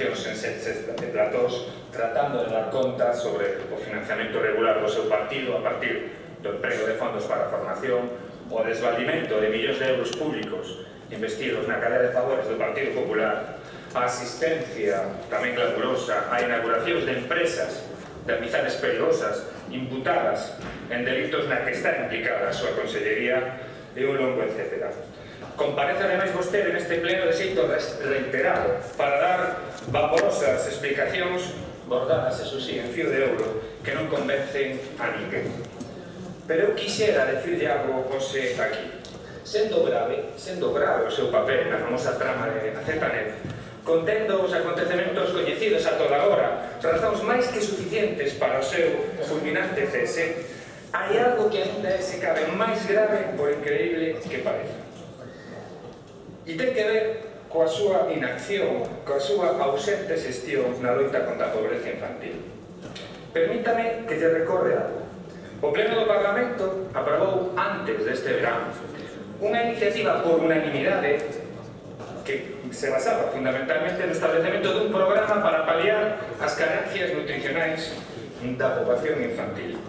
intervencións en sets de platós tratando de dar conta sobre o financiamento regular do seu partido a partir do emprego de fondos para a formación, o desvalimento de millóns de euros públicos investidos na cadea de favores do Partido Popular, a asistencia tamén glamurosa a inauguracións de empresas de amizades perigosas imputadas en delitos na que está implicada a súa consellería e un longo etcétera. Comparece ademais vostede neste pleno de xeito reiterado para dar vaporosas explicacións bordadas, eso sí, en fío de ouro que non convencen a ninguén. Pero eu quixera decirle algo hoxe aquí. Sendo grave o seu papel na famosa trama de Azetanet, contendo os acontecementos coñecidos a toda hora, razóns máis que suficientes para o seu fulminante cese, hai algo que ainda é se cabe máis grave por increíble que pareza. E ten que ver coa súa inacción, coa súa ausente xestión na loita contra a pobreza infantil. Permítame que lle recorde algo. O Pleno do Parlamento aprobou antes deste verán unha iniciativa por unanimidade que se basaba fundamentalmente no establecemento dun programa para paliar as carencias nutricionais da poboación infantil.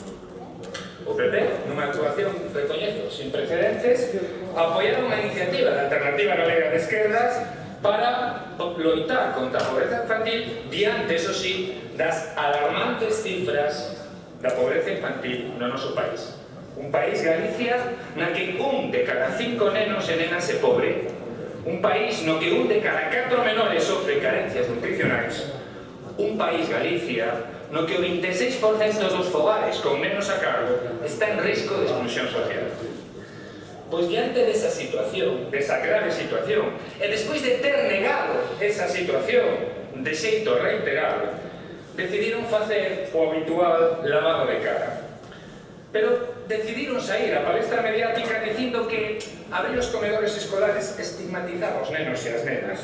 O PP, nunha actuación, recoñezo, sin precedentes, apoiaron unha iniciativa da Alternativa Galega de Esquerdas para loitar contra a pobreza infantil diante, eso sí, das alarmantes cifras da pobreza infantil no noso país. Un país, Galicia, na que un de cada 5 nenos e nenas é pobre. Un país no que un de cada 4 menores sofre carencias nutricionais. Un país, Galicia, no que o 26% dos fogares con nenos a cargo está en risco de exclusión social. Pois diante desa situación, desa grave situación, e despois de ter negado esa situación de xeito reiterado, decidiron facer o habitual lavado de cara. Pero decidiron sair a palestra mediática dicindo que abrir os comedores escolares estigmatizaba os nenos e as nenas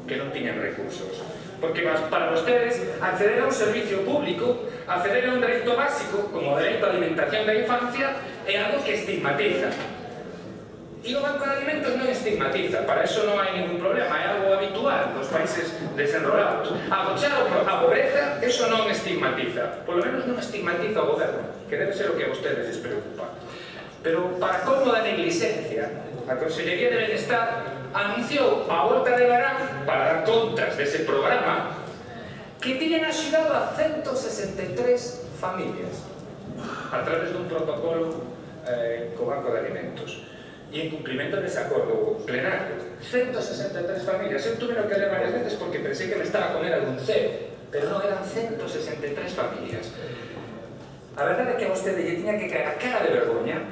que non tiñan recursos. Porque para vostedes acceder a un servicio público, acceder a un dereito básico como o dereito a alimentación da infancia é algo que estigmatiza. E o Banco de Alimentos non estigmatiza, para eso non hai ningún problema, é algo habitual nos países desenrolados. Agochar a pobreza, eso non estigmatiza, polo menos non estigmatiza o goberno, que debe ser o que a vostedes les preocupa. Pero para colmo da negligencia, a Consellería de Benestar anunciou a volta de verán, para dar contas dese programa, que tiñen axudado a 163 familias a través dun protocolo co Banco de Alimentos. E en cumprimento dese acordo plenario, 163 familias. Eu tuve que ler varias veces porque pensei que me estaba a comer algún cero, pero non, eran 163 familias. A verdade é que a vostede lle tiña que caer a cara de vergoña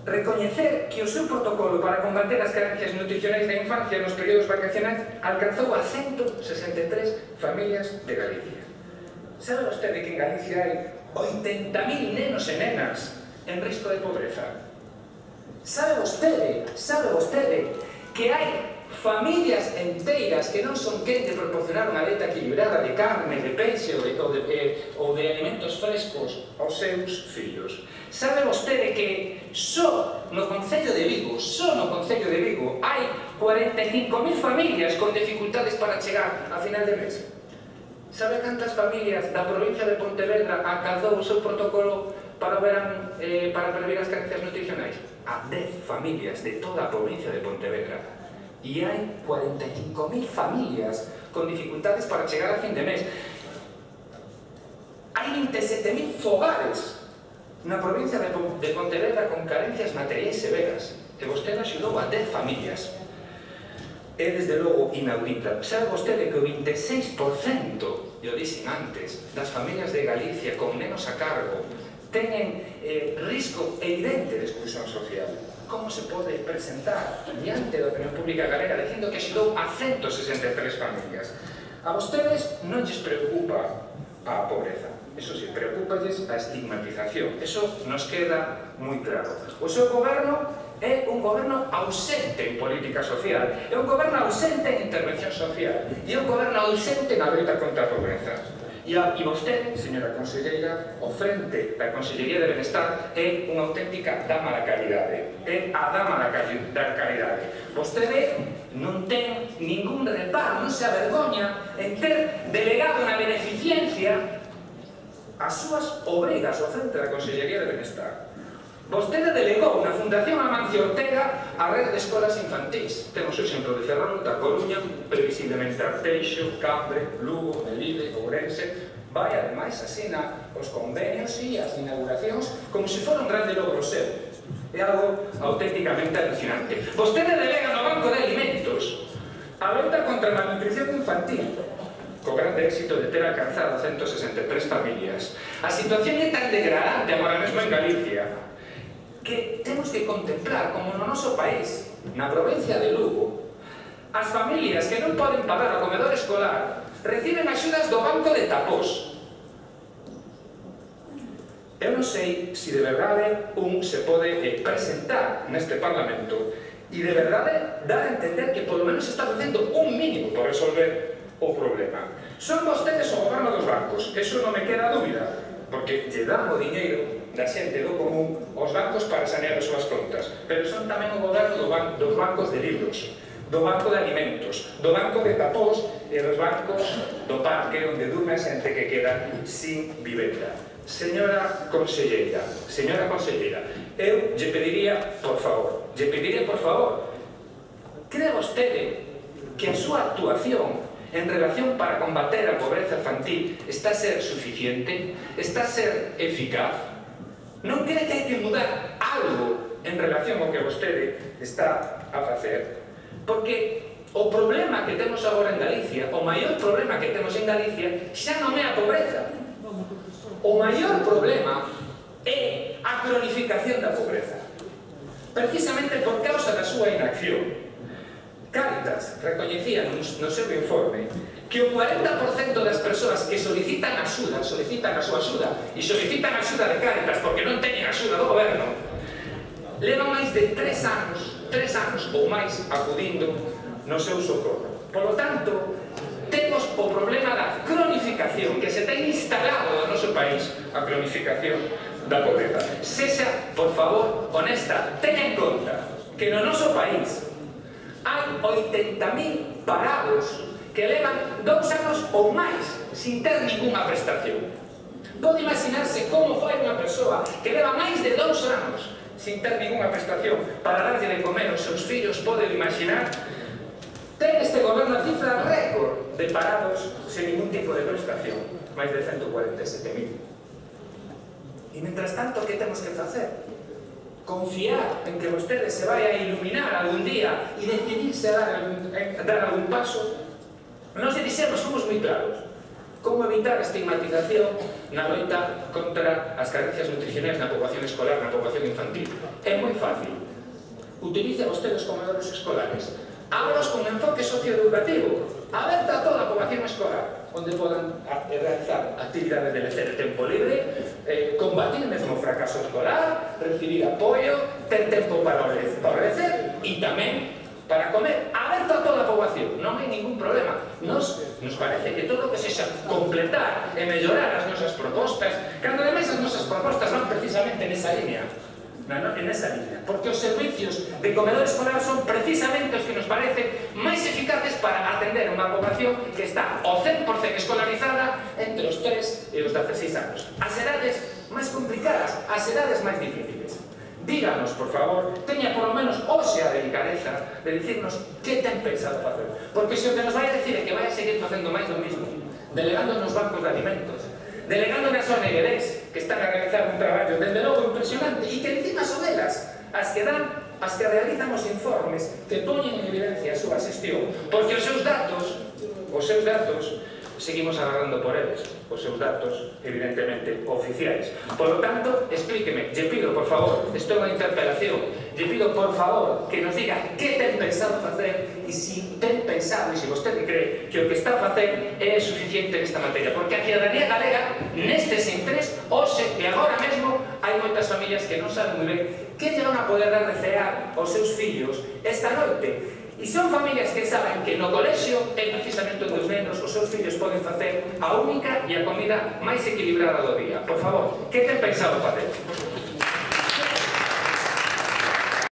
recoñecer que o seu protocolo para combater as carencias nutricionais da infancia nos períodos vacacionais alcanzou a 163 familias de Galicia. Sabe vostede que en Galicia hai 80.000 nenos e nenas en risco de pobreza? Sabe vostede que hai familias enteiras que non son quen de proporcionar unha dieta equilibrada de carne, de peixe ou de alimentos frescos aos seus fillos? Sabe vostede que só no Concello de Vigo hai 45.000 familias con dificultades para chegar a final de mes? Sabe cantas familias da provincia de Pontevedra alcanzou o seu protocolo para prever as carencias nutricionais? A 10 familias de toda a provincia de Pontevedra. E hai 45.000 familias con dificultades para chegar a fin de mes. Hai 27.000 fogares na provincia de Pontevedra con carencias materiais severas. E vostede axudou a 10 familias. É desde logo inaudita. Sabe vostede que o 26%, e o dixen antes, das familias de Galicia con nenos a cargo teñen risco evidente de exclusión social? Como se pode presentar diante da opinión pública galega dicindo que axudou a 163 familias? A vostedes non lles preocupa a pobreza, eso sí, preocuparlles a estigmatización, eso nos queda moi claro. O seu goberno é un goberno ausente en política social, é un goberno ausente en intervención social, e é un goberno ausente na loita contra a pobreza. E vostede, señora conselleira, o frente da Consellería de Benestar é unha auténtica dama da caridade. É a dama da caridade. Vostede non ten ningún reparo, non se avergoña en ter renuncia ás súas obrigas ao frente da Consellería de Benestar. Vostede delegou na Fundación Amancio Ortega a rede de escolas infantís. Temos o exemplo de Ferrol, da Coruña, previsiblemente Arteixo, Cambre, Lugo, Melide, Ourense. Vai, ademais, asina os convenios e as inauguracións como se fora un grande logro seu. É algo auténticamente alucinante. Vostede delega no Banco de Alimentos a loita contra a malnutrición infantil, co grande éxito de ter alcanzado 163 familias. A situación é tan degradante agora mesmo en Galicia que temos que contemplar como no noso país, na provincia de Lugo, as familias que non poden pagar o comedor escolar reciben axudas do Banco de Tapós. Eu non sei se de verdade un se pode presentar neste Parlamento e de verdade dar a entender que polo menos está facendo un mínimo por resolver o problema. Son vostedes o goberno dos bancos, eso non me queda dúbida, porque lle dan o diñeiro da xente do común aos bancos para sanear as súas contas, pero son tamén o goberno dos bancos de libros, do banco de alimentos, do banco de Tapós e dos bancos do parque onde durme a xente que queda sin vivenda. Señora conselleira, eu lle pediría, por favor, cree vostede que a súa actuación en relación para combater a pobreza infantil está a ser suficiente? Está a ser eficaz? Non cree que hai que mudar algo en relación ao que vostede está a facer? Porque o problema que temos agora en Galicia, o maior problema que temos en Galicia, xa non é a pobreza. O maior problema é a cronificación da pobreza. Precisamente por causa da súa inacción. Cáritas recoñecía no seu informe que o 40% das persoas que solicitan a súa axuda e solicitan a axuda de Cáritas porque non teñen axuda do goberno, levan máis de 3 anos ou máis acudindo no seu socorro. Por lo tanto, temos o problema da cronificación que se ten instalado no noso país, a cronificación da pobreza. Sexa, por favor, honesta, ten en conta que no noso país hai 80.000 parados que levan 2 anos ou máis sin ter ninguna prestación. Pode imaginarse como foi unha persoa que leva máis de 2 anos sin ter ninguna prestación para darlle de comer aos seus fillos. Pode imaginar. Ten este goberno a cifra récord de parados sen ningún tipo de prestación, máis de 147.000. E, mentras tanto, que temos que facer? Confiar en que vostede se vai a iluminar algún día e decidirse a dar algún paso. Nos dixemos, somos moi claros, como evitar a estigmatización na loita contra as carencias nutricionais na poboación escolar, na poboación infantil. É moi fácil. Utilice vostede os comedores escolares. Ábrelos con enfoque socioeducativo, aberta a toda a poboación escolar, onde podan realizar actividades de lecer de tempo libre, combatir mesmo o fracaso escolar, recibir apoio, ter tempo para lecer e tamén para comer, aberto a toda a poboación. Non hai ningún problema. Nos parece que todo o que sexa completar e mellorar as nosas propostas, cando ademais as nosas propostas van precisamente nesa línea, porque os servicios de comedor escolar son precisamente os que nos parecen máis eficaces para atender unha poboación que está ao 100% escolarizada entre os 3 e os 16 anos. As edades máis complicadas, as edades máis difíciles. Díganos, por favor, teña por lo menos hoxe a delicadeza de dicirnos que ten pensado facer. Porque se o que nos vai a decir é que vai a seguir facendo máis do mismo, delegando nos bancos de alimentos, delegando nas ONGs que están a realizar un traballo desde logo impresionante e que encima son elas as que realizan os informes que poñen en evidencia a súa xestión, porque os seus datos seguimos agarrando por eles, os seus datos evidentemente oficiais. Por lo tanto, explíqueme, lle pido por favor, estou na interpelación, lle pido por favor que nos diga que ten pensado facer e se ten pensado e se vostede cree que o que está a facer é suficiente nesta materia, porque a ciudadanía galega nestes intres, hoxe e agora mesmo hai moitas familias que non saben moi ben que lle van a poder dar de cear aos seus fillos esta noite. E son familias que saben que no colexio é precisamente onde os nenos, os seus fillos poden facer a única e a comida máis equilibrada do día. Por favor, que ten pensado facer?